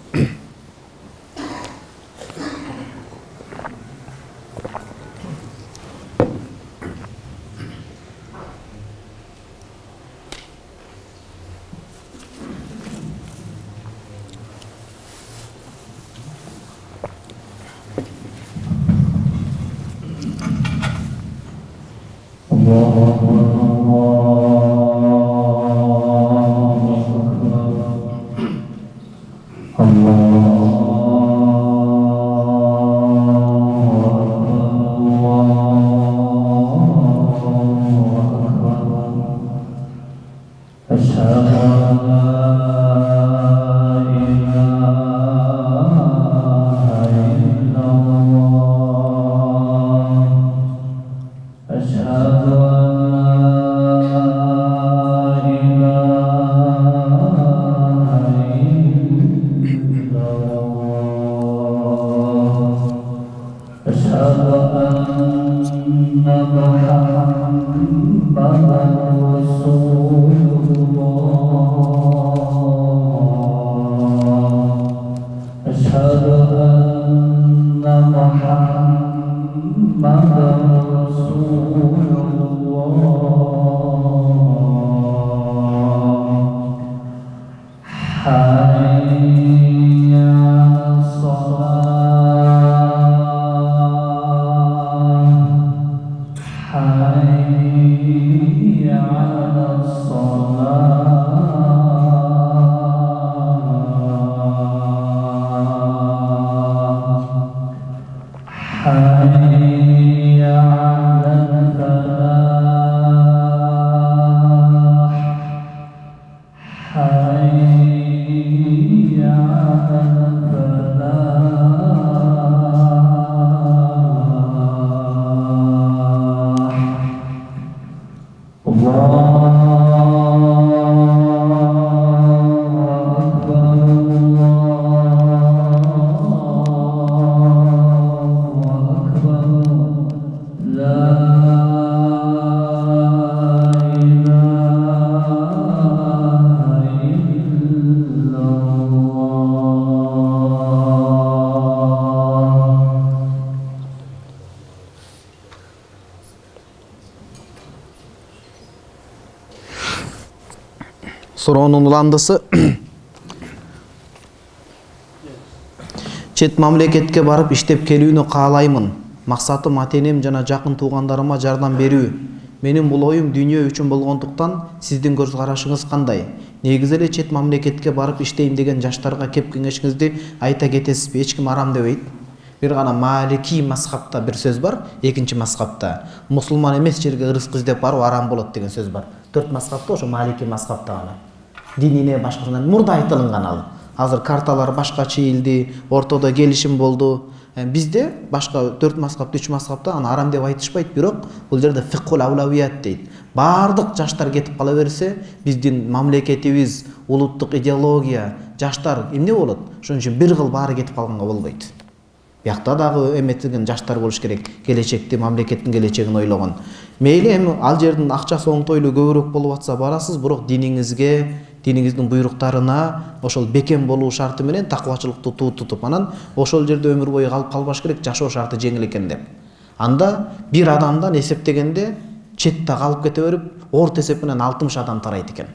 Суроонун уландысы Чет мамлекетке барып иштеп келүүнү каалаймын. Максатым ата-энем жана жакын туугандарыма жардам берүү. Менин бул оюм дүйнө үчүн болгондуктан сиздин көз карашыңыз кандай? Негизи эле чет мамлекетке барып иштейм деген жаштарга кеп кеңешиңизди айта кетесизби? Эч ким арам дебейт. Бир гана Малики мазхабта бир сөз бар, экинчи мазхабта мусулман эмес жерге ырызык издеп баруу арам болот деген сөз бар. 4 мазхабта ошо Малики мазхабта гана. Динине башкасынан мурда айтылган ал. Азыр карталар башка чийилди, ортодо келишим болду. Бизде башка 4 мазхаб, 3 мазхабта аны арам деп айтышпайт, бирок бул жерде фикхул аулавият дейт. Бардык жаштар кетип кала берсе, биздин мамлекетибиз, улуттук идеология, жаштар эмне болот? Ошон үчүн бир кыл баары кетип калганга болбойт. Биякта дагы эметилген жаштар болуш керек, келечекти, мамлекеттин келечегин ойлогон. Мейли эми ал жердин акчасы оңтойлуу көбүрөөк болуп атса барасыз, бирок диниңизге, диниңиздин буйруктарына ошол бекем болуу шарты менен такыбачылыкты тутуп, анан ошол жерде өмүр бою калып калбаш керек, жашоо шарты жеңил экен деп. Анда бир адамдан эсептегенде четте калып кете берип, орто эсеп менен 60 адам тарайт экен.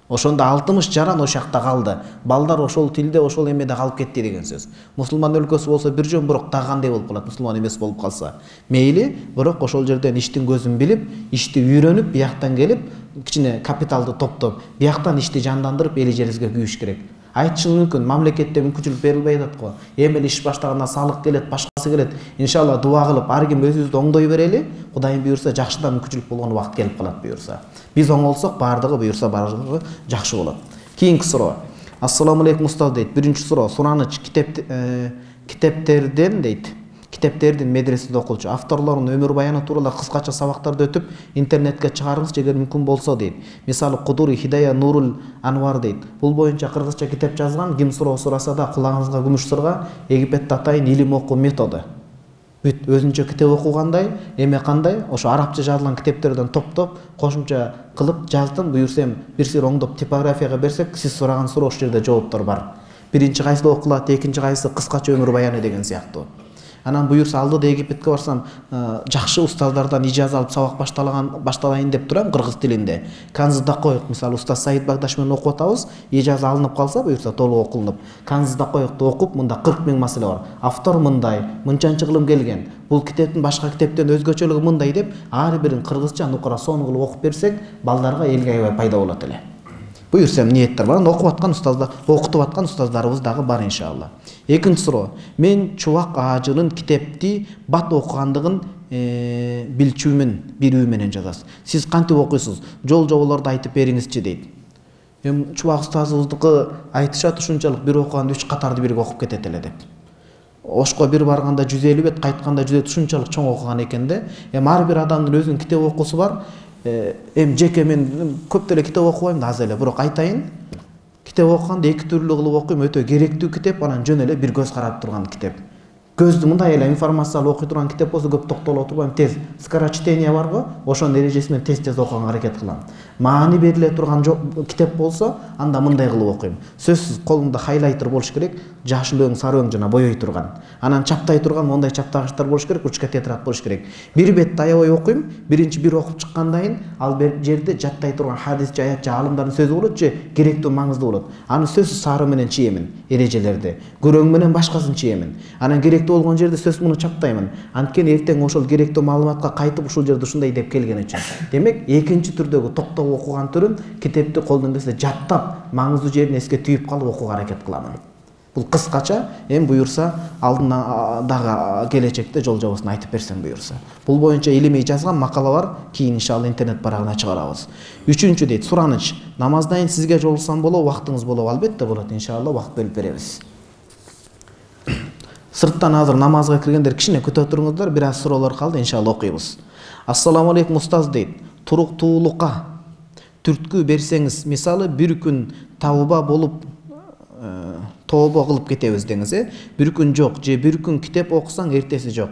Ошондо 60 жаран ошол жакта калды. Балдар ошол тилде, ошол эмеде калып кетти деген сөз. Мусулман өлкөсү болсо бир жөн, бирок дагы кандай болуп калат, мусулман эмес болуп калса. Мейли, бирок ошол жерден иштин көзүн билип, ишти үйрөнүп, бияктан келип, кичине капиталды топтоп, бияктан ишти жандандырып, эли жерибизге күйүш керек. Айтышың мүмкүн, мамлекетте мүмкүнчүлүк берилбей атат го. Эми эле иш баштаганда салык келет, башкасы келет. Иншалла дуа кылып, ар ким өзүбүздү оңдой берели. Кудайым буйрса, жакшыдан мүмкүнчүлүк болгон убакыт келип калат буйрса. Биз оңолсок, бардыгы буйрса бардыгы жакшы болот. Кийинки суроо. Ассаламу алейкум устаз дейт. Биринчи суроо, сураныч китептерден дейт. Китептердин медреседе окулчу. Авторлорунун өмүр баяны тууралуу кыскача сабактарды өтүп, интернетке чыгарыңыз эгер мүмкүн болсо дейт. Мисалы Кудури Хидая Нурул Анвар дейт. Бул боюнча кыргызча китеп жазган, ким суроо сураса да кулагыңызга күмүш сырга, Египетте атайын илим окуу методу. Бүт өзүнчө китеп окугандай, эме кандай, ошо арабча жазылган китептерден топтоп, кошумча кылып жаздым. Буюрсам, бир сир оңдоп типографияга берсек, сиз сураган суроо ошол жерде жооптор бар. Биринчи кайсыда окулат, экинчи кайсы кыскача өмүр баяны деген сыяктуу. Анан буюрса алдыда Египетке барсам, жакшы устаздардан ижаза алып сабак башталайын деп турам кыргыз тилинде. Канзыда коек, мисалы устаз Саид Багдаш менен окуп атабыз, ижаза алынып калса буюрса толук окулуп. Канзыда коекти окуп, мында 40 000 маселе бар. Автор мындай, мынчанчы кылым келген. Бул китептин башка китептен өзгөчөлүгү мындай деп, ар бирин кыргызча нукура сон кылып окуп берсек, балдарга элге аябай пайда болот эле. Буюрсам ниеттер бар. Окуп аткан устаздар, окутуп аткан устаздарыбыз дагы бар иншалла. Экинчи суроо. Мен Чубак Ажынын китепти бат окугандыгын билчүмүн, бирүү менен жазасыз. Сиз кантип окуйсуз? Жол-жоболорду айтып бериңизчи дейт. Чубак устазыбыздыкы айтышат ушунчалык бир окуганда 3 катарды бирге окуп кетет эле деп. Ошко бир барганда 150 бет, кайтканда 100 бет ушунчалык чоң окуган экен да. Ар бир адамдын өзүнүн китеп окуусу бар. Жеке мен көп деле китеп окубайм да, аз эле, бирок айтайын. Китеп окуганда эки түрлүү кылып окуйм, өтө керектүү китеп, анан жөн эле бир көз карап турган китеп. Көздү мындай эле информациялуу окуй турган китеп болсо көп токтоло турбайм, тез скорочтение барго, ошонун эрежеси менен тез окуганга аракет кылам. Маани бериле турган китеп болсо, анда мындай кылып окуйм. Сөзсүз колуңда хайлайтер болуш керек, жашыл өң, сары өң жана боёй турган. Анан чаптай турган мондай чаптагычтар болуш керек, ручка тетрадь болуш керек. Бир бет аябай окуйм, биринчи бир окуп чыккандан ал жерде жаттай турган хадис, аят, алымдардын сөзү болот же керектүү, маңыздуу болот. Аны сөзсүз сары менен чиемин, эрежелерди. Көрөң менен башкасын чиемин. Анан керектүү болгон жерде сөз муну чаптаймын. Анткени эртең ошол керектүү маалыматка кайтып ушул жерде ушундай деп келген үчүн. Демек, экинчи түрдөгү токтоп окуган түрүн китепти колдон келсе жаттап, маңыздуу жерин эске түйүп калып окууга аракет кыламын. Бул кыскача, эми буюрса, алдына дагы келечекте жол жобосун айтып берсем буюрса. Бул боюнча илимий жазган макала бар, кийин иншалла интернет барагына чыгарабыз. Үчүнчү дейт, сураныч. Намаздан сизге жолуксам болобу, убактыңыз болобу? Албетте болот, иншалла убакыт бөлүп беребиз. Сырттан азыр намазга киргендер кичине күтө туруңуздар, бир аз суроолор калды, иншалла окуйбуз. Ассаламу алейкум устаз дейт. Туруктуулукка түрткү берсеңиз, мисалы бир күн тауба болуп тообо кылып кетебиз деңиз, бир күн жок же бир күн китеп окусаң эртеси жок.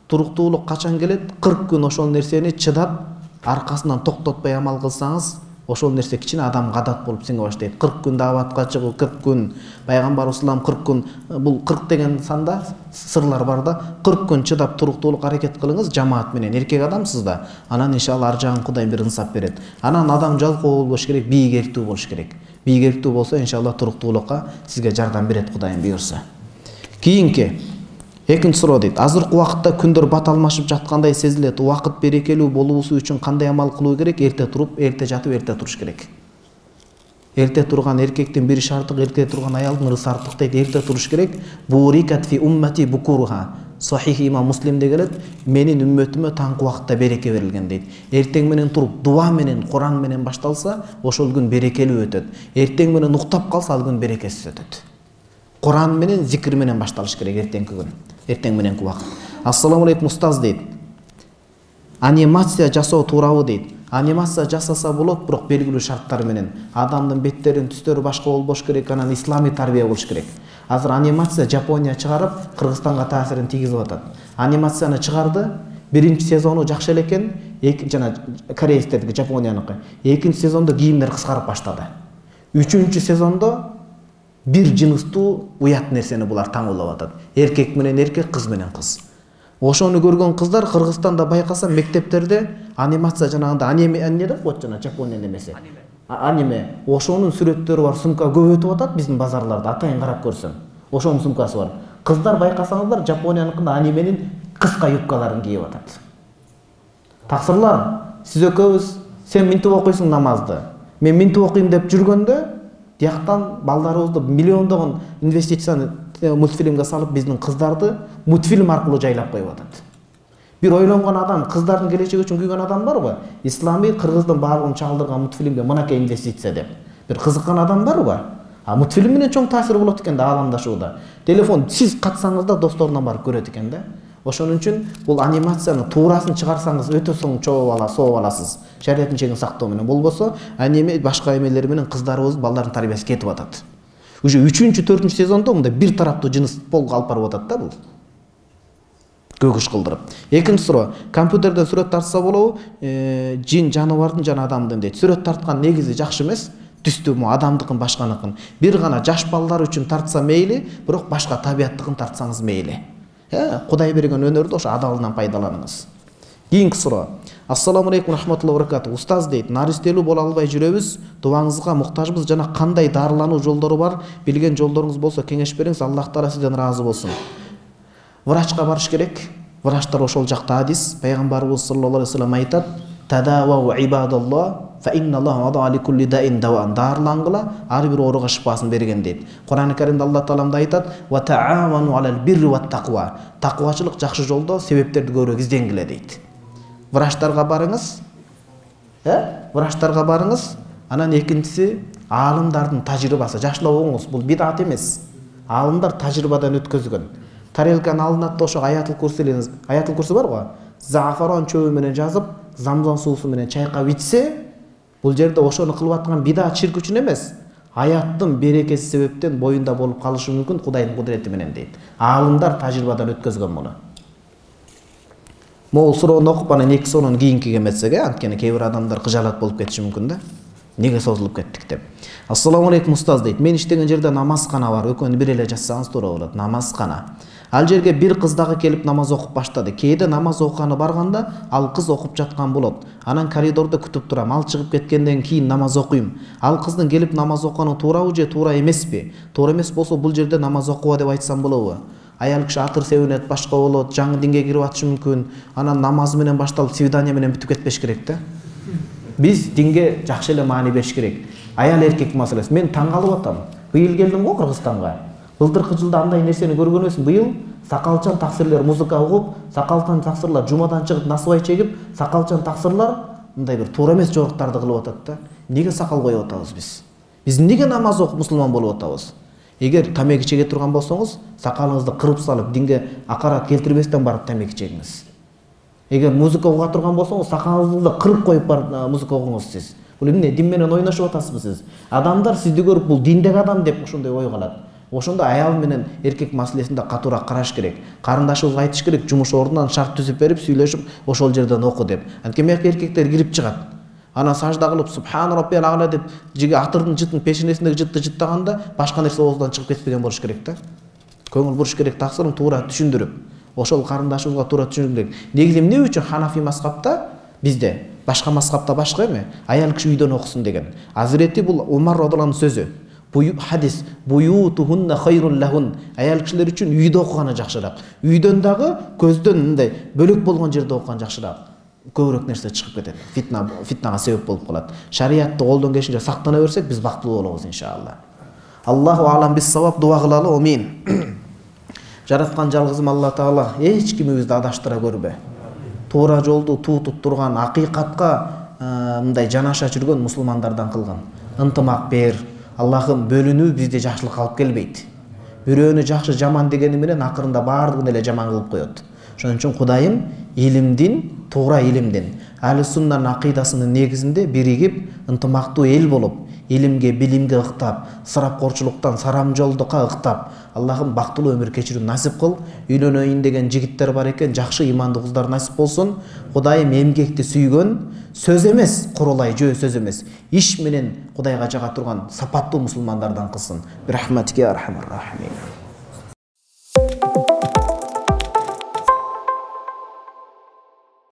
Туруктуулук качан келет? 40 күн ошол нерсени чыдап, аркасынан токтотпой амал кылсаңыз, ошол нерсе кичине адамга адат болуп сиңе баштайт. 40 күн дааватка чыгуу, 40 күн пайгамбар ислам 40 күн, бул 40 деген санда сырлар бар да. 40 күн чыдап туруктуулук аракет кылыңыз жамаат менен. Эркек адамсыз да. Анан иншалла ар жагын Кудайым бир ынсап берет. Анан адам жалкоо болбош керек, бийгерктүү болуш керек. Бийгерктүү болсо иншалла туруктуулукка сизге жардам берет Кудайым буйрса. Кийинки экинчи суроо дейт. Азыркы убакытта күндөр бат алмашып жаткандай сезилет. Убакыт берекелүү болуусу үчүн кандай амал кылуу керек? Эрте туруп, эрте жатып, эрте туруш керек. Эрте турган эркектин бир шарты, эрте турган аялдын ырысы артык дейт. Эрте туруш керек. Бурикат фи уммати букуруха. Сахих имам Муслимде келет. Менин үммөтүмө таңкы убакытта береке берилген дейт. Эртең менен туруп, дуа менен, Куран менен башталса, ошол күн берекелүү өтөт. Эртең менен уктап калса, ал күн берекесиз өтөт. Куран менен, зикир менен башталыш керек эртеңки күн. Эртең мененки убакыт. Ассаламу алейкум устаз дейт. Анимация жасоо туурабы дейт. Анимация жасаса болот, бирок белгилүү шарттар менен. Адамдын беттеринин түстөрү башка болбош керек, анан исламий тарбия болуш керек. Азыр анимация Жапония чыгарып, Кыргызстанга таасирин тийгизип атат. Анимацияны чыгарды, биринчи сезону жакшы эле экен, жана корейцтердики, Жапонияныкы. Экинчи сезондо кийимдер кыскарып баштады. Үчүнчү сезондо бир жыныстуу уят нерсени булар таңуулап атат. Эркек менен эркек, кыз менен кыз. Ошону көргөн кыздар Кыргызстанда байкаса мектептерде анимация жанагында аниме деп коет жана Жапониянын эмеси. Аниме. Ошонун сүрөттөрү бар сумка көп өтүп атат биздин базарларда. Атайын карап көрсөң. Ошонун сумкасы бар. Кыздар байкасаңыздар Жапонияныкында анименин кыска юбкаларын кийип атат. Таксырлар, сиз экөөбүз сен минтип окуйсуң намазды. Мен минтип окуйм деп жүргөндө дияктан балдарыбызды миллиондогон инвестицияны мультфильмге салып биздин кыздарды мультфильм аркылуу жайлап коюп атат. Бир ойлонгон адам, кыздардын келечеги үчүн күйгөн адам барбы? Исламий Кыргыздын баардыгын чагылдырган мультфильмге мынакей инвестиция деп. Бир кызыккан адам барбы? Мультфильм менен чоң таасир болот экен да ааламдашууда. Телефон сиз катсаңыз да досторунан барып көрөт экен да. Ошон үчүн бул анимацияны туурасын чыгарсаңыз өтө сооп аласыз. Шариаттын чегин сактоо менен. Болбосо аниме башка эмелер менен кыздарыбыз балдардын тарбиясы кетип атат. Уже 3-4 сезондо мындай бир тараптуу жыныс полго алып барып атат да бул. Көгүш кылдырып. Экинчи суроо. Компьютерден сүрөт тартса болобу? Жин, жаныбардын жана адамдын дейт. Сүрөт тарткан негизи жакшы эмес. Түстү адамдыкын башканыкын. Бир гана жаш балдар үчүн тартса мейли, бирок башка табияттыкын тартсаңыз мейли. Кудай берген өнөрдү ошо адалынан пайдаланыңыз. Кийинки суроо. Ассаламу алейкум рахматуллахи ва баракату. Устаз дейт, наристелүү боло албай жүрөбүз, дубаңызга муктажбыз жана кандай дарылануу жолдору бар, билген жолдоруңуз болсо кеңеш бериңиз, Аллах таала сизден ыраазы болсун. Врачка барыш керек. Врачтар ошол жакта хадис, пайгамбарыбыз саллаллаху алейхи ва саллям айтат: "Тадавау ибадаллах, фа инналлаха вада али кулли даин даван." Дарылангыла, ар бир ооруга шифасын берген дейт. Кур'ан-ы Каримде Аллах таалам айтат: "Ва таавану алал бирри ва тақва." Таквачылык жакшы жолдо себептерди көбүрөөк изденгиле дейт. Врачтарга барыңыз. Врачтарга барыңыз. Анан экинчиси аалымдардын тажрыйбасы. Жашлап окуңуз, бул бидат эмес. Аалымдар тажрыйбадан өткөзгөн. Тарелканы алынат да ошо аятыл курси барбы? Зафарон чөбү менен жазып, замзам суусу менен чайкап ичсе, бул жерде ошону кылып аткан бидат ширк үчүн эмес. Аяттын берекеси себептен боюнда болуп калышы мүмкүн Кудайдын кудурети менен дейт. Аалымдар тажрыйбадан өткөзгөн муну. Могул суроону окуп анан эки суроонун кийинкиге метсек, анткени кээ бир адамдар кыжаалат болуп кетиши мүмкүн да. Неге созулуп кеттик деп. Ассаламу алейкум устаз дейт. Мен иштеген жерде намазкана бар. Экөөнү бир эле жазсаңыз туура болот. Намазкана. Ал жерге бир кыз дагы келип намаз окуп баштады. Кээде намаз окуганы барганда ал кыз окуп жаткан болот. Анан коридордо күтүп турам. Ал чыгып кеткенден кийин намаз окуйм. Ал кыздын келип намаз окуганы туурабы же туура эмеспи? Туура эмес болсо бул жерде намаз окуба деп айтсам болобу? Аял киши атыр себинет, башка болот, жаңы динге кирип атышы мүмкүн. Анан намаз менен башталып свидание менен бүтүп кетпеш керек да. Биз динге жакшы эле маани бериш керек. Аял эркек маселеси. Мен таң калып атам. Быйыл келдим го Кыргызстанга. Былтыркы жылда андай нерсени көргөн эмесмин. Быйыл сакалчан таксирлер музыка угуп, сакалчан таксирлар жумадан чыгып насыбай чегип, сакалчан таксирлар мындай бир туура эмес жоруктарды кылып атат да. Неге сакал коюп атабыз биз? Биз неге намаз окуп мусулман болуп атабыз? Эгер тамеки чеге турган болсоңуз, сакалыңызды кырып салып, динге акарат келтирбестен барып тамеки чегиңиз. Эгер музыка уга турган болсоңуз, сакалыңызды кырып коюп барып музыка угуңуз сиз. Бул эмне? Дин менен ойношуп атасызбы сиз? Адамдар сизди көрүп бул диндеги адам деп ошондой ой калат. Ошондо аял менен эркек маселесинде катуураак караш керек. Карындашыбызга айтыш керек, жумуш ордунан шарт түзүп берип, сүйлөшүп, ошол жерден оку деп. Анткени эркектер кирип чыгат. Анан сажда кылып субхан раббил а'ла деп жиге атырдын жытын пешенесиндеги жытты жыттаганда башка нерсе оозунан чыгып кетпеген болуш керек да. Көңүл буруш керек, таксырын туура түшүндүрүп. Ошол карындашыбызга туура түшүндүрүш керек. Негизи эмне үчүн Ханафи мазхабта бизде, башка мазхабта башка эме, аял киши үйдөн окусун деген. Азирети бул Умар радhiyallahu сөзү. Хадис буютухунна хайрун лахун. Аял кишилер үчүн үйдө окуганы жакшыраак. Үйдөн дагы көздөн мындай бөлөк болгон жерде окуган жакшыраак. Көбүрөөк нерсе чыгып кетет. Фитнага себеп болуп калат. Шариятты колдон келишинче сактана берсек, биз бактылуу болобуз иншалла. Аллаху алам бис савап. Дуа кылалы. Амин. Жараткан жалгызым Алла Таала эч кимибизди адаштыра көрбө. Туура жолду туутуп турган, акыйкатка мындай жанаша жүргөн мусулмандардан кылгын. Ынтымак бер. Аллахым бөлүнүү бизде жакшылыкка алып келбейт. Бирөөнү жакшы жаман дегени менен акырында баардыгын эле жаман кылып коет. Ошон үчүн Кудайым илимдин, туура илимдин, Ахли суннанын акыйдасынын негизинде биригип, ынтымактуу эл болуп, илимге, билимге ыктап, сарапкорчулуктан сарамжолдукка ыктап, Аллахым бактылуу өмүр кечирүүнү насип кыл. Үйлөнөйүн деген жигиттер бар экен, жакшы имандуу кыздар насип болсун. Кудайым эмгекти сүйгөн, сөз эмес, курулай жөө сөз эмес, иш менен Кудайга жага турган сапаттуу мусулмандардан кылсын. Бирахматике архамар рахимин.